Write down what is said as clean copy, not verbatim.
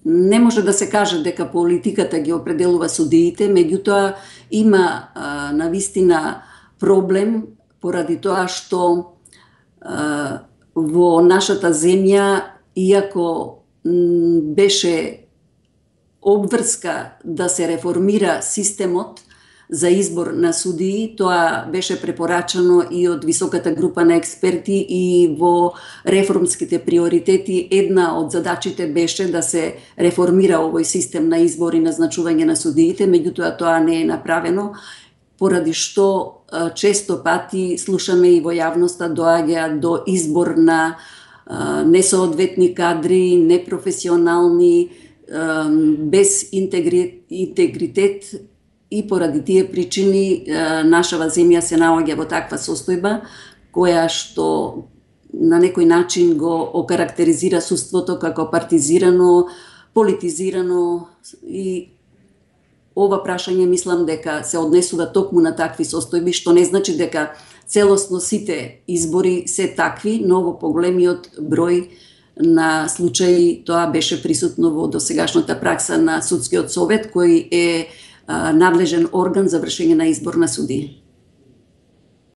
не може да се каже дека политиката ги определува судиите, меѓутоа има навистина проблем поради тоа што во нашата земја, иако беше обврска да се реформира системот за избор на судии, тоа беше препорачано и од високата група на експерти, и во реформските приоритети една од задачите беше да се реформира овој систем на избор и назначување на судиите, меѓутоа тоа не е направено, поради што често пати слушаме и во јавноста доаѓа до избор на несоодветни кадри, непрофесионални, без интегритет, и поради тие причини нашава земја се наоѓа во таква состојба, која што на некој начин го окарактеризира судството како партизирано, политизирано, и ова прашање мислам дека се однесува токму на такви состојби, што не значи дека целосно сите избори се такви, но во поголемиот број на случаи тоа беше присутно во досегашната пракса на судскиот совет, кој е надлежен орган за вршење на избор на судии.